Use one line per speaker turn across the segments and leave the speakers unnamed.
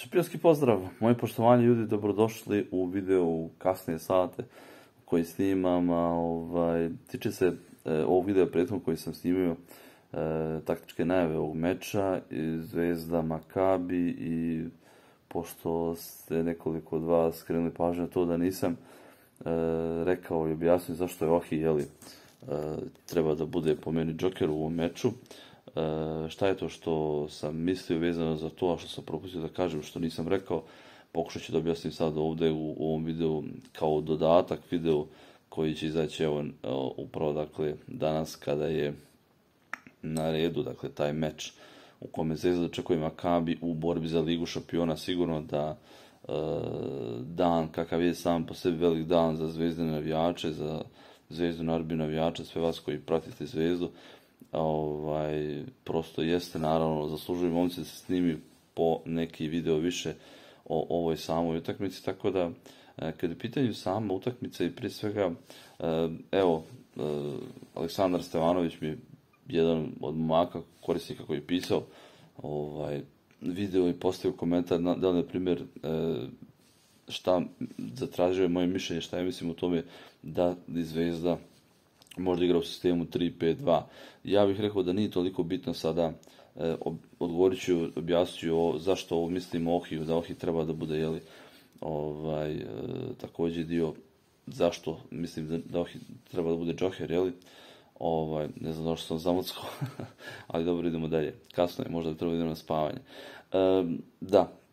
Šipjarski pozdrav, moji poštovani ljudi, dobrodošli u video u kasnije sate koji snimam, tiče se ovog videa prethodnog koji sam snimio, taktičke najave ovog meča, Zvezda Makabi, i pošto ste nekoliko od vas skrenuli pažnju na to da nisam rekao i objasnio zašto je Ohi, treba da bude po meni džoker u ovom meču. Šta je to što sam mislio vezano za to, a što sam propustio da kažem, što nisam rekao, pokušat ću da objasnim sad ovdje u ovom videu kao dodatak video koji će izaći upravo danas kada je na redu taj meč u kome Zvezda dočekuje Makabi u borbi za Ligu šampiona. Sigurno da dan kakav je sam po sebi velik dan za zvezdine navijače, za Zvezdu Narbi navijače, sve vas koji pratite Zvezdu, prosto jeste, naravno, zaslužuju momci da se snimi po neki video više o ovoj samoj utakmici, tako da kada je pitanju sama utakmica i prije svega, Aleksandar Stevanović mi je jedan od momaka korisnika koji je pisao video i postavio komentar, da li, na primjer, šta zatražio je moje mišljenje, šta ja mislim o tome da Zvezda možda igra u sistemu 3-5-2. Ja bih rekao da nije toliko bitno sada, odgovorit ću, objasnit ću zašto ovo mislim o Ohiju, da Ohi treba da bude, također dio zašto mislim da Ohi treba da bude džoker, ne znam zašto sam zamuckao, ali dobro, idemo dalje. Kasno je, možda treba idemo na spavanje.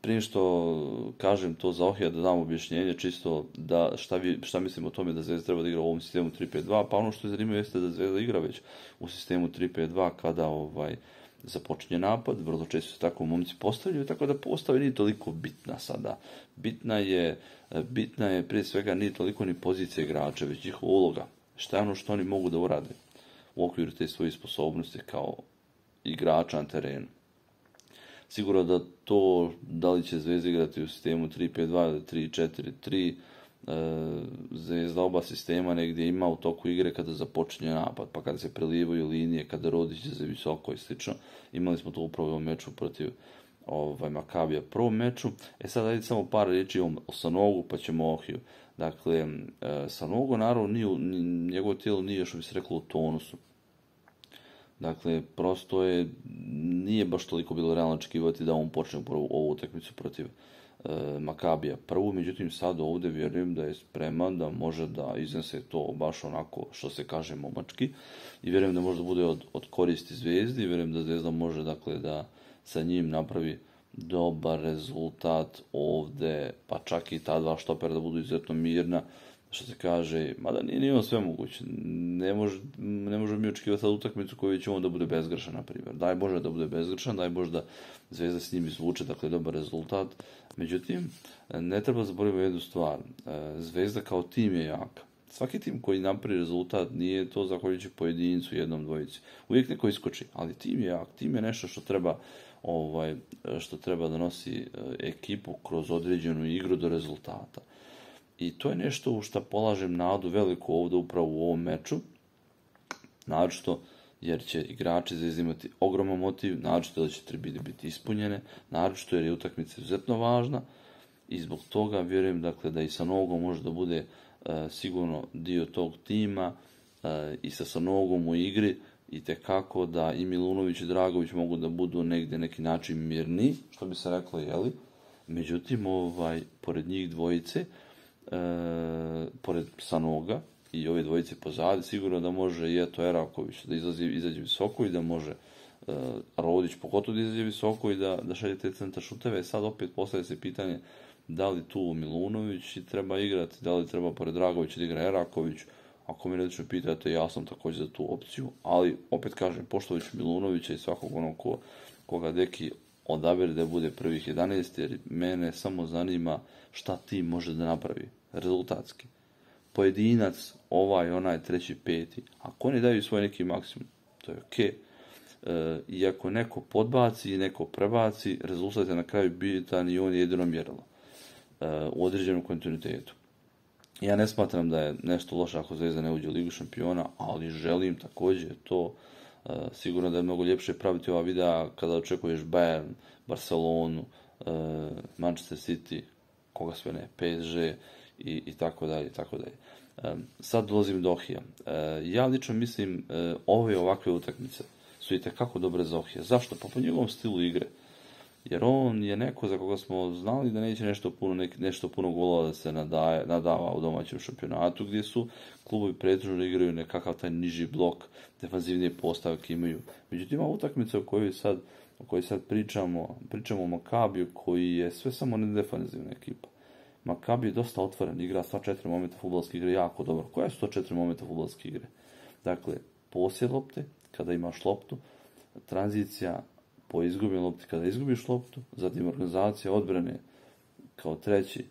Prije što kažem to za Ohija, da dam objašnjenje čisto da šta mislim o tome da Zvezda treba da igra u ovom sistemu 3-5-2, pa ono što je zanimljivo jeste da Zvezda igra već u sistemu 3-5-2 kada započinje napad, vrlo često se tako momci postavljaju, tako da postava nije toliko bitna sada. Bitna je prije svega nije toliko ni pozicija igrača, već njihova uloga. Šta je ono što oni mogu da urade u okviru te svoje sposobnosti kao igrača na terenu. Sigurno da to, da li će Zvezda igrati u sistemu 3-5-2 ili 3-4-3, Zvezda oba sistema negdje ima u toku igre kada započinje napad, pa kada se prelivaju linije, kada Rodić za visoko i slično. Imali smo to upravo u ovom meču protiv Makabija, prvom meču. Sad ajde samo par riječi o Sanogu, pa ćemo o Ohiju. Dakle, Sanogo, naravno, njegovo tijelo nije, što bi se reklo, u tonusu. Dakle, prosto nije baš toliko bilo realno očekivati da on počne ovu utakmicu protiv Makabija prvu, međutim sad ovdje vjerujem da je spreman, da može da iznese to baš onako što se kaže momački, i vjerujem da može da bude od koristi Zvezdi, i vjerujem da Zvezda može da sa njim napravi dobar rezultat ovdje, pa čak i ta dva štopera da budu izuzetno mirna, što se kaže, mada nije on sve moguće. Ne možemo mi očekivati sad utakmicu koju će on da bude bezgrešan, na primjer. Daj Bože da bude bezgrešan, daj Bože da Zvezda s njim izvuče, dobar rezultat. Međutim, ne treba zaboraviti jednu stvar. Zvezda kao tim je jaka. Svaki tim koji napravi rezultat nije to zahvaljujući pojedincu, jednom, dvojici. Uvijek neko iskoči, ali tim je jak. Tim je nešto što treba da nosi ekipu kroz određenu igru do rezultata. I to je nešto u što polažem nadu veliku ovdje upravo u ovom meču, naročito jer će igrači Zvezde imati ogroman motiv, naročito da će tribine biti ispunjene, naročito jer je utakmica izuzetno važna, i zbog toga vjerujem da i Sanogo može da bude sigurno dio tog tima, i sa Sanogom u igri, i tekako da i Milunović i Dragović mogu da budu negdje neki način mirni, što bi se reklo, međutim, pored njih dvojice, pored Sanoga i ove dvojice pozadi, sigurno da može i Eraković da izađe visoko, i da može Rodić pogotovo da izađe visoko i da šalje te centar šuteve. Sad opet postavlja se pitanje da li tu Milunović treba igrati, da li treba pored Dragovića da igra Eraković. Ako mi radično pitate, ja sam također za tu opciju, ali opet kažem, poštovajući Milunovića i svakog onog koga Deki odabere da bude prvih 11, jer mene samo zanima šta tim može da napravi rezultatski. Pojedinac, onaj, treći, peti, ako oni daju svoj neki maksimum, to je okej. I ako neko podbaci i neko prebaci, rezultat je na kraju bitan i on je jedino mjerilo u određenom kontinuitetu. Ja ne smatram da je nešto loše ako Zvezda ne uđe u Ligu šampiona, ali želim također to. Sigurno da je mnogo ljepše praviti ova videa kada očekuješ Bayern, Barcelonu, Manchester City, koga sve ne, PSG i tako dalje, i tako dalje. Sad dolazim do Ohija. Ja lično mislim ove ovakve utakmice su itekako dobre za Ohija. Zašto? Pa po njegovom stilu igre. Jer on je neko za koga smo znali da neće nešto puno golova da se nadava u domaćem šampionatu, gdje su klubovi pretežno igraju nekakav taj niži blok, defanzivnije postavke imaju. Međutim, ima utakmica o kojoj sad pričamo o Makabiju, koji je sve samo ne defanzivna ekipa. Makabi je dosta otvoren, igra sva 4 momenta fudbalske igre jako dobro. Koja su to 4 momenta fudbalske igre? Dakle, posjed lopte, kada imaš loptu, tranzicija po izgubljenoj lopti kada izgubiš loptu, zatim organizacija odbrane kao treći,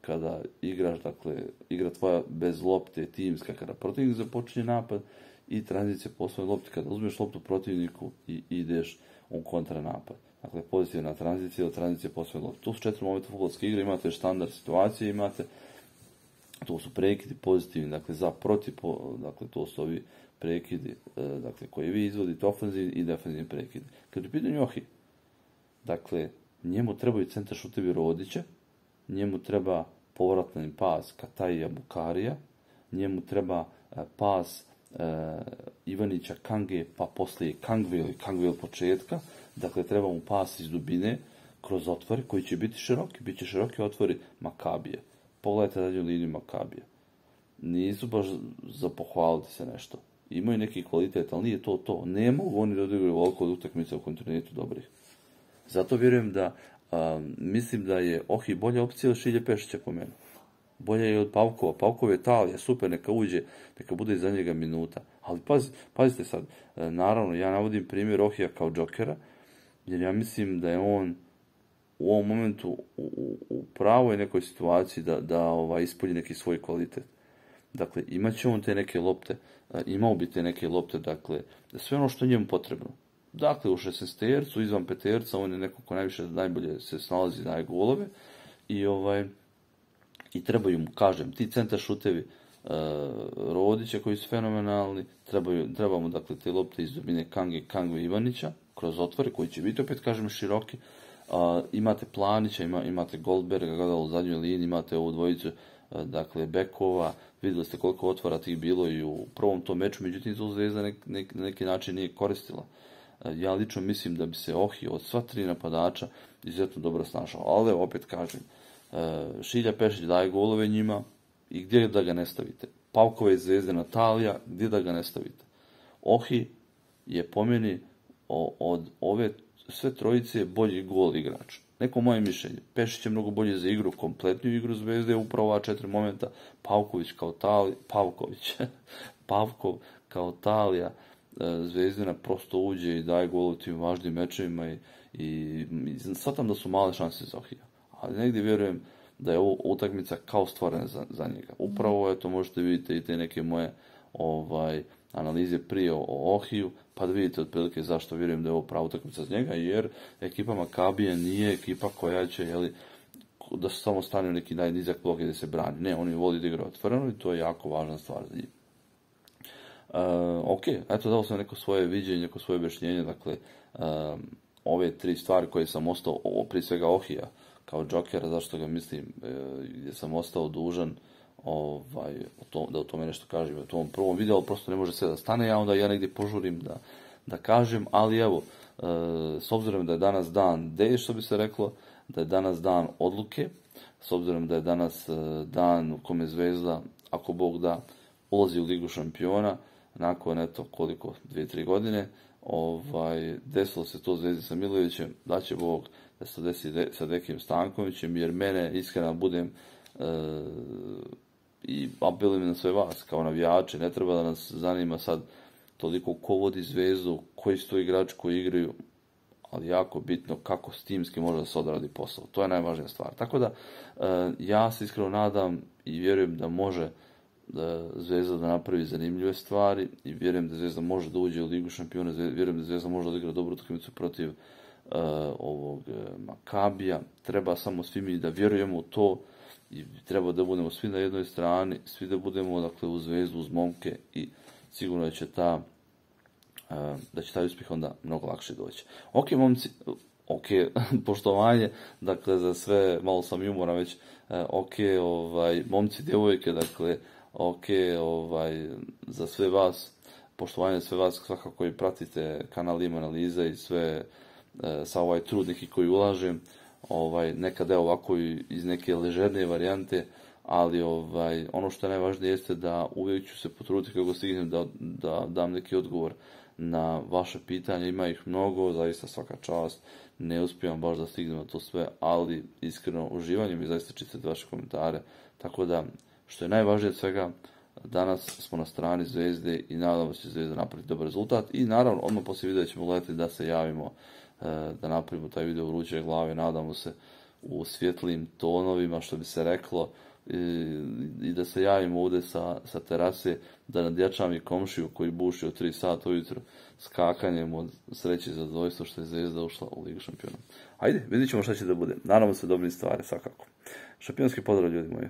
kada igraš, dakle, igra tvoja bez lopte, timska, kada protivnik započinje napad, i tranzicija po svojoj lopti kada uzmeš loptu protivniku i ideš u kontranapad. Dakle, pozitivna tranzicija ili tranzicija po svojoj lopti. To su 4 momenta fudbalske igre, imate standard situacije, to su prekidi pozitivni, dakle, za protiv, dakle, to su ovi prekidi, dakle, koji vi izvodite, ofenzivni i defenzivni prekidi. Kad je u pitanju Ohi, dakle, njemu trebaju centar šutevi Rodića, njemu treba povratni pas Kataija Bukarija, njemu treba pas Ivanića Kange, pa poslije Kangve od početka, dakle, treba mu pas iz dubine, kroz otvore, koji će biti široki, bit će široki otvori Makabije. Pogledajte dalje liniju Makabije. Nisu baš za pohvaliti se nešto. Imaju neki kvalitet, ali nije to. Ne mogu oni da odigraju ovoliko od utakmica u kontinuitetu dobrih. Zato vjerujem mislim da je Ohi bolja opcija od Šilje Pešića po meni. Bolja je od Pavkova. Pavkov je Italija, super, neka uđe, neka bude iza njega minuta. Ali pazite sad, naravno, ja navodim primjer Ohija kao džokera, jer ja mislim da je on u ovom momentu u pravoj nekoj situaciji da ispolji neki svoj kvalitet. Dakle, imat će on te neke lopte, imao bi te neke lopte, dakle, sve ono što je njemu potrebno. Dakle, u 16-tercu, izvan peterca, on je neko ko najbolje se snalazi, daje golove i trebaju mu, kažem, ti centar šutevi Rodića koji su fenomenalni, treba mu, dakle, te lopte iz dubine Kangve Ivanića, kroz otvore, koji će biti, opet kažem, široki. Imate Planića, imate Goldberga u zadnjoj liniji, imate ovu dvojicu, dakle, bekova, vidjeli ste koliko otvora tih bilo i u prvom tom meču, međutim, to Zvezda na neki način nije koristila. Ja lično mislim da bi se Ohi od sva 3 napadača izuzetno dobro snašao, ali opet kažem, Šilja Pešić daje golove njima i gdje da ga ne stavite? Pavkova iz Zvezde, Natalija, gdje da ga ne stavite? Ohi je po meni od ove sve trojice bolji gol igrač. Neko moje mišljenje. Pešić je mnogo bolje za igru, kompletniju igru Zvezde, upravo ova 4 momenta. Pavkov kao Talija, Zvezdina prosto uđe i daje gol u tim važnim mečevima i shvatam da su male šanse za Ohija. Ali negdje vjerujem da je ovo utakmica kao stvorena za njega. Upravo, možete vidjeti i te neke moje analize prije o Ohiju, pa da vidite otprilike zašto vjerujem da je ovo prava utakmica za njega, jer ekipa Makabije nije ekipa koja će, da se samo stane u neki najnizak blok i da se brani. Ne, oni voli da igraju otvoreno i to je jako važna stvar za njih. Ok, eto, dao sam neko svoje viđenje, neko svoje objašnjenje, dakle, ove 3 stvari koje sam ostao, prije svega Ohija, kao džokera, zašto ga mislim, gdje sam ostao dužan da o tome nešto kažem u tom prvom videu, prosto ne može sve da stane, ja negdje požurim da kažem, ali evo, s obzirom da je danas dan D, što bi se reklo, da je danas dan odluke, s obzirom da je danas dan u kome Zvezda, ako Bog da, ulazi u Ligu šampiona, nakon, eto, koliko, 2-3 godine, desilo se to Zvezdi sa Milojevićem, da će Bog da se desi sa Dekim Stankovićem, jer mene, iskreno budem, i apelujem na sve vas, kao navijače, ne treba da nas zanima sad toliko ko vodi Zvezdu, koji su to igrači koji igraju, ali jako bitno kako s timski može da se odradi posao. To je najvažnija stvar. Tako da, ja se iskreno nadam i vjerujem da može Zvezda da napravi zanimljive stvari i vjerujem da Zvezda može da uđe u Ligu šampiona, vjerujem da Zvezda može da igra dobru utakmicu protiv ovog Makabija. Treba samo svi mi da vjerujemo u to i treba da budemo svi na jednoj strani, svi da budemo, dakle, uz Zvezdu, uz momke i sigurno da će taj uspjeh onda mnogo lakše doći. Ok, momci, ok, poštovanje, dakle, za sve, malo sam humora već, ok, momci, djevojke, dakle, ok, za sve vas, poštovanje sve vas svakako koji pratite kanal Ima analize i sve, sa ovaj trud neki koji ulažem, nekad evo ovako iz neke ležernije varijante, ali ono što je najvažnije jeste da uvijek ću se potruditi kako stignem da dam neki odgovor na vaše pitanje, ima ih mnogo, zaista svaka čast, ne uspijem baš da stignem na to sve, ali iskreno uživanjem i zaista čitati vaše komentare, tako da, što je najvažnije od svega, danas smo na strani Zvezde i nadamo se Zvezda napraviti dobar rezultat i naravno odmah poslije videa ćemo gledati da se javimo, da napravimo taj video vruće glave, nadamo se u svjetlim tonovima, što bi se reklo, i da se javimo ovdje sa terase, da nadjačam i komšiju koji buši od 3 sata ujutro skakanjem od sreće i zadovoljstva što je Zvezda ušla u Ligu šampiona. Ajde, vidit ćemo šta će da bude. Naravno se dobrim stvari, svakako. Šampionski pozdrav, ljudi moji.